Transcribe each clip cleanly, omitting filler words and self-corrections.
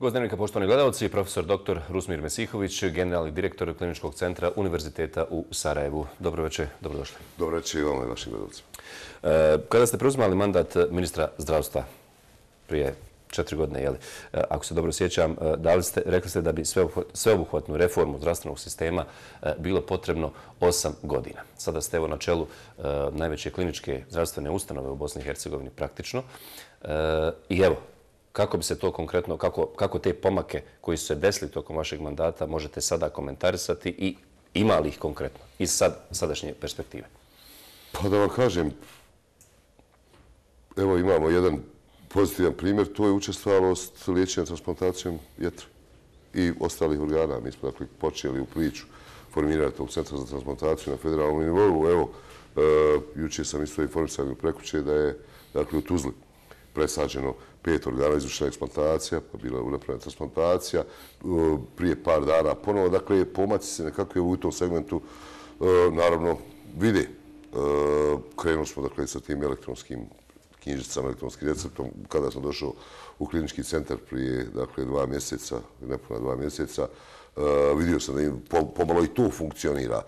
Pozdravljeni poštovani gledalci, profesor dr. Rusmir Mesihović, generalni direktor Kliničkog centra Univerziteta u Sarajevu. Dobro večer, dobrodošli. Dobro večer i vama i vašim gledalcima. Kada ste preuzimali mandat ministra zdravstva prije 4 godine, ako se dobro sjećam, rekli ste da bi sveobuhvatnu reformu zdravstvenog sistema bilo potrebno 8 godina. Sada ste na čelu najveće kliničke zdravstvene ustanove u Bosni i Hercegovini praktično. I evo, kako bi se to konkretno, kako te pomake koji su se desili tokom vašeg mandata možete sada komentarisati i ima li ih konkretno iz sadašnje perspektive? Pa da vam kažem, evo imamo jedan pozitivan primjer, to je učestvovalost liječenja transplantacijom jetre i ostalih organa. Mi smo dakle počeli u priču formirati tog centra za transplantaciju na federalnom nivou. Evo, jučer sam isto informisan u prekjuče da je dakle u Tuzli presađeno 5 organa, izvršena eksplantacija, pa bila je napravljena transplantacija, prije par dana ponovo. Dakle, pomaci se nekako u tom segmentu naravno vide. Krenuli smo dakle sa tim elektronskim knjižicama, elektronskim receptom. Kada sam došao u klinički centar prije dakle 2 mjeseca, nepuna 2 mjeseca, vidio sam da pomalo i to funkcionira.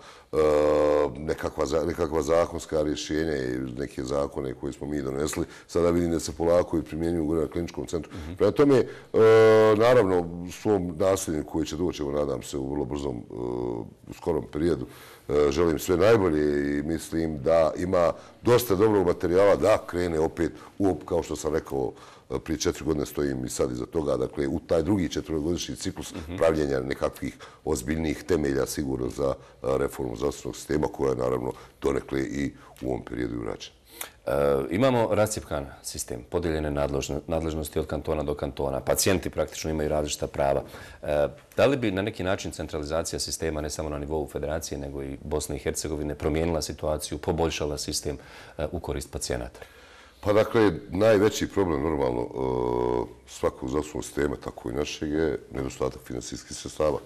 Nekakva zakonska rješenja i neke zakone koje smo mi donesli, sada vidim da se polako i primjenjuju na kliničkom centru. Prema tome, naravno, svom nasljedniku koji će doći, nadam se, u vrlo brzom, skorom periodu, želim sve najbolje i mislim da ima dosta dobrog materijala da krene opet, kao što sam rekao, prije 4 godine stojim i sad iza toga, dakle, u taj drugi 4-godišnji ciklus pravljenja nekakvih ozbiljnih temelja sigurno za reformu zdravstvenog sistema koja je naravno donekle i u ovom periodu i urađena. Imamo rascjepkan sistem, podijeljene nadležnosti od kantona do kantona. Pacijenti praktično imaju različita prava. Da li bi na neki način centralizacija sistema, ne samo na nivou federacije, nego i Bosne i Hercegovine, promijenila situaciju, poboljšala sistem u korist pacijenata? Pa dakle, najveći problem normalno svakog zdravstvenog sistema, tako i našeg, je nedostatak finansijskih sredstava.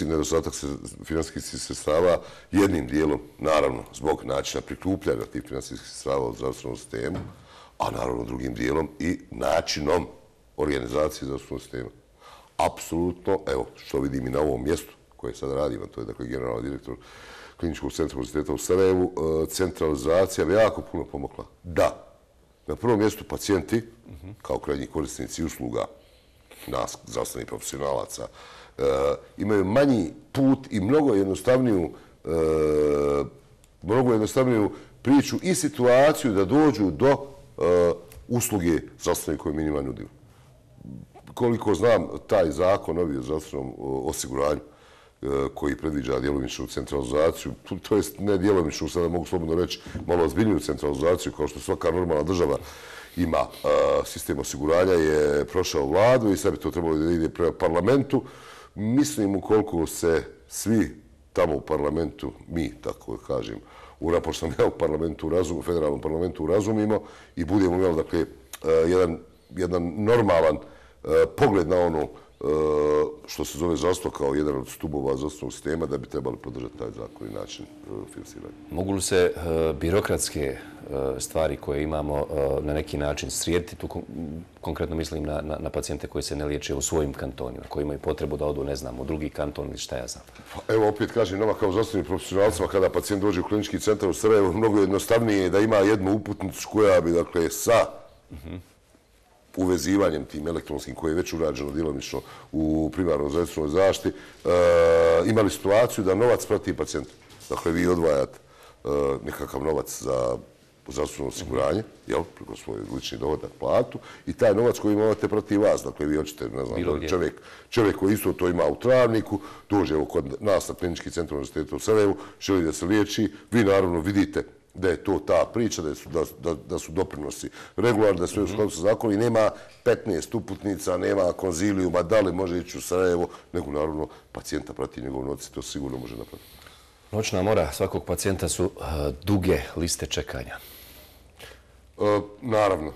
Nedostatak finansijskih sredstava jednim dijelom, naravno, zbog načina prikupljanja tih finansijskih sredstava u zdravstvenom sistemu, a naravno drugim dijelom i načinom organizacije zdravstvenog sistema. Apsolutno, evo, što vidim i na ovom mjestu koje sad radim, to je dakle generalni direktor Kliničkog centra Univerziteta u Sarajevu, centralizacija bi jako puno pomogla. Da, na prvom mjestu pacijenti, kao krajnji korisnici usluga nas, zdravstvenih profesionalaca, imaju manji put i mnogo jednostavniju priču i situaciju da dođu do usluge zdravstvene koje mi njima nudimo. Koliko znam, taj zakon novi o zdravstvenom osiguranju koji predviđa djelomičnu centralizaciju, to jest ne djelomičnu, sada mogu slobodno reći, malo ozbiljniju centralizaciju, kao što svaka normalna država ima sistem osiguranja, je prošao vladu i sad bi to trebalo da ide prema parlamentu. Mislim, ukoliko se svi tamo u parlamentu, mi, tako kažem, pošto sam ja u parlamentu, u federalnom parlamentu razumimo i budemo imali, dakle, jedan normalan pogled na ono što se zove zdravstvo kao jedan od stubova zdravstvenog sistema, da bi trebali podržati taj zakon i način finansiranja. Mogu li se birokratske stvari koje imamo na neki način srijediti? Tu konkretno mislim na pacijente koji se ne liječe u svojim kantonima, koji imaju potrebu da odu, ne znam, u drugi kanton ili šta ja znam. Evo, opet kažem, nama kao zdravstvenim profesionalcima, kada pacijent dođe u klinički centar u Sarajevu, mnogo jednostavnije je da ima jednu uputnicu koja bi, dakle, sa uvezivanjem tim elektronskim koje je već urađeno djelomično u primarnoj zdravstvenoj zaštiti, imali situaciju da novac prati pacijenta. Dakle, vi odvajate nekakav novac za zdravstveno osiguranje, preko svoj lični dohodak, platu, i taj novac koji imate prati vas. Dakle, vi hoćete, ne znam, čovjek koji isto to ima u Travniku, dođe kod nas na Klinički centar Univerziteta u Sarajevu, želi da se liječi, vi naravno vidite da je to ta priča, da su doprinosi regularni, da sve u skladu sa zakonom i nema 15 uputnica, nema konzilijuma, da li može ići u Sarajevo, nego naravno pacijenta prati njegov novac i to sigurno može napraviti. Noćna mora svakog pacijenta su duge liste čekanja. Naravno,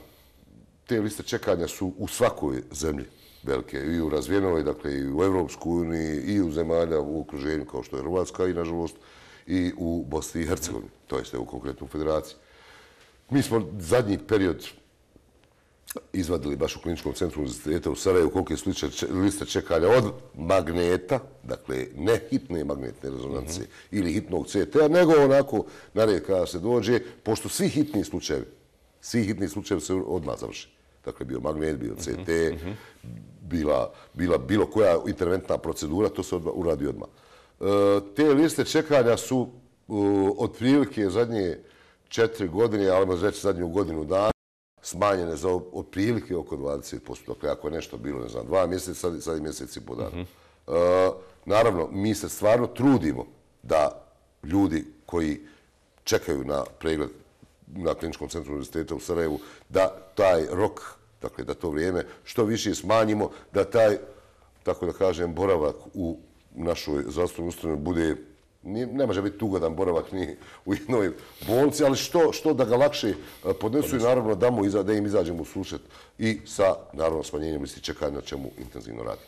te liste čekanja su u svakoj zemlji velike, i u razvijenoj, dakle i u Evropskoj uniji, i u zemalja u okruženju kao što je Hrvatska i nažalost i u Bosni i Hercegovini, to jest u konkretno u Federaciji. Mi smo zadnji period izvadili baš u Kliničkom centru univerziteta u Sarajevu kolike su liste čekanja od magneta, dakle ne hitne magnetne rezonance ili hitnog CT-a, nego onako na red kada se dođe, pošto svi hitni slučajevi se odmah završi. Dakle, bio magnet, bio CT, bila bilo koja interventna procedura, to se uradi odmah. Te liste čekanja su otprilike zadnje 4 godine, ali možda reći zadnju godinu dana, smanjene za otprilike oko 20%. Dakle, ako je nešto bilo, ne znam, 2 mjeseca, sad je mjesec i po dana. Naravno, mi se stvarno trudimo da ljudi koji čekaju na pregled na Kliničkom centru univerziteta u Sarajevu, da taj rok, dakle, da to vrijeme što više smanjimo, da taj, tako da kažem, boravak u našoj zdravstvenoj ustanovi bude, ne može biti ugodan boravak ni u jednoj bolnici, ali što da ga lakše podnesu i naravno da im izađemo u susret i sa, naravno, smanjenjem listi čekanja, na čemu intenzivno radi.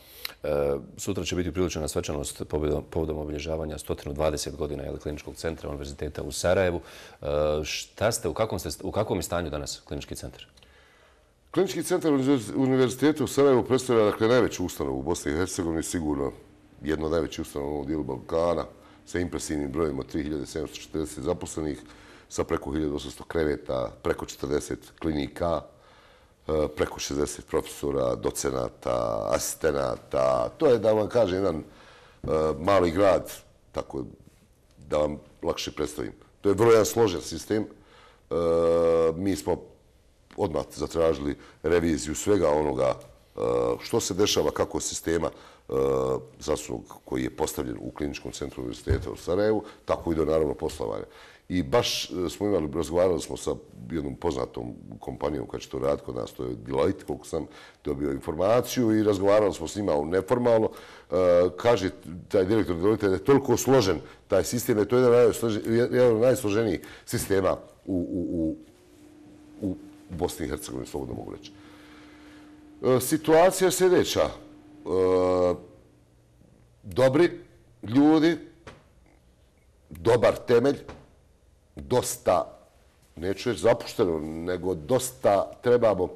Sutra će biti upriličena svečanost povodom obilježavanja 120 godina Kliničkog centra univerziteta u Sarajevu. U kakvom je stanju danas Klinički centar? Klinički centar univerziteta u Sarajevu predstavlja, dakle, najveću ustanovu u Bosni i Hercegovini, sigurno jedno od najvećih ustanova u ovom dijelu Balkana, sa impresivnim brojem od 3740 zaposlenih, sa preko 1800 kreveta, preko 40 klinika, preko 60 profesora, docenata, asistenata. To je, da vam kažem, jedan mali grad, tako da vam lakše predstavim. To je vrlo jedan složen sistem. Mi smo odmah zatražili reviziju svega onoga što se dešava, kako sistema zdravstvenog koji je postavljen u Kliničkom centru univerziteta u Sarajevu, tako i do naravno poslovanja. I baš smo razgovarali smo sa jednom poznatom kompanijom koja će to raditi kod nas, to je Deloitte, koliko sam dobio informaciju, i razgovarali smo s njima neformalno. Kaže taj direktor Deloitte da je toliko složen taj sistem, da je to jedan od najsloženijih sistema u Bosni i Hercegovini, slobodno mogu reći. Situacija je sljedeća. Dobri ljudi, dobar temelj, dosta, neću reći zapušteno, nego dosta trebamo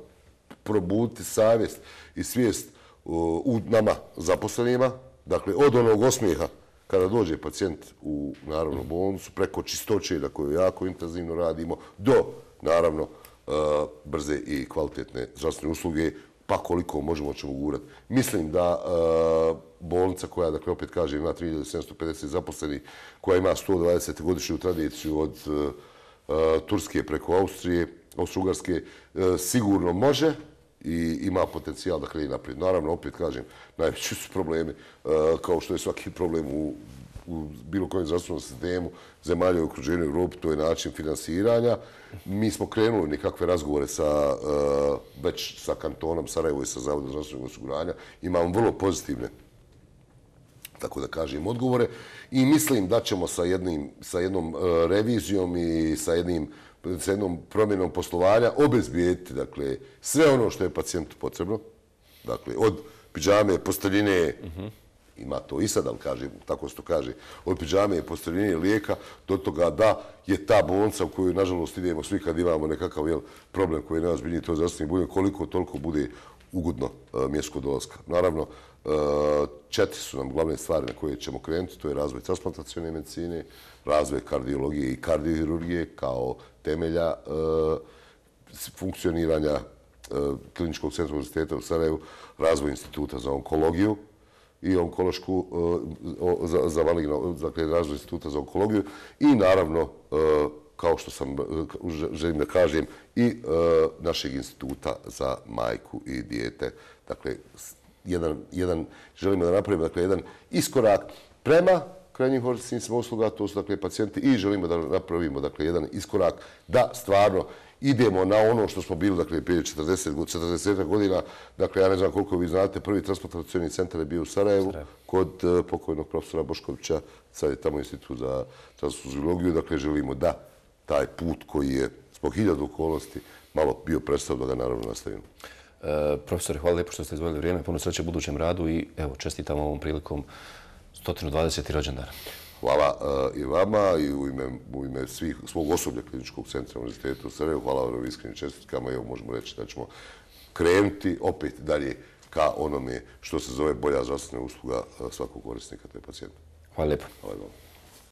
probuditi savjest i svijest u nama zaposlenima. Dakle, od onog osmijeha kada dođe pacijent u, naravno, bolnicu, preko čistoće na kojoj jako intenzivno radimo, do, naravno, brze i kvalitetne zdravstvene usluge, pa koliko možemo ćemo gurati. Mislim da bolnica koja, dakle, opet kažem, ima 3750 zaposlenih, koja ima 120-godišnju tradiciju od Turske preko Austrije, Austro-Ugarske, sigurno može i ima potencijal da krene naprijed. Naravno, opet kažem, najveći su problemi, kao što je svaki problem u bilo kojem zdravstvenom sistemu zemalja u okruženju Evropi, to je način finansiranja. Mi smo krenuli nekakve razgovore već sa kantonom Sarajevo i sa Zavodom zdravstvenog osiguranja. Imamo vrlo pozitivne, tako da kažem, odgovore i mislim da ćemo sa jednom revizijom i sa jednom promjenom poslovanja obezbijediti, dakle, sve ono što je pacijentu potrebno. Dakle, od pidžame, posteljine, ima to i sad, ali kažem, tako se to kaže, od pidžame, posteljine, lijeka, do toga da je ta bolnica u koju, nažalost, idemo svi kad imamo nekakav problem koji je najozbiljniji, to je zdravstveni budem, koliko toliko bude ugodno mjesto dolaska. Naravno, 4 su nam glavne stvari na koje ćemo krenuti, to je razvoj transplantacione medicine, razvoj kardiologije i kardiohirurgije kao temelja funkcioniranja Kliničkog centra univerziteta u Sarajevu, razvoj instituta za onkologiju i onkološku, za maligno, dakle, razvoj instituta za onkologiju i naravno, kao što sam želim da kažem, i našeg instituta za majku i dijete. Dakle, želimo da napravimo jedan iskorak prema krajnjim korisnicima usluga, to su, dakle, pacijenti, i želimo da napravimo, dakle, jedan iskorak da stvarno idemo na ono što smo bili, dakle, prije 40 godina. Dakle, ja ne znam koliko vi znate, prvi transplantacioni centar je bio u Sarajevu kod pokojnog profesora Boškovića, sad je tamo institut za transfuziologiju. Dakle, želimo da taj put koji je zbog 1000 okolnosti malo bio predstav, da ga naravno nastavimo. Profesore, hvala lijepo što ste izvojili vrijeme, puno sreće u budućem radu i evo, čestitam ovom prilikom 120. rođendana. Hvala i vama i u ime svog osoblja Kliničkog centra univerziteta u Sarajevu. Hvala vam na iskrenim čestitkama. Evo, možemo reći da ćemo krenuti opet dalje ka onome što se zove bolja zdravstvena usluga svakog korisnika, to je pacijenta. Hvala lijepo. Hvala vam.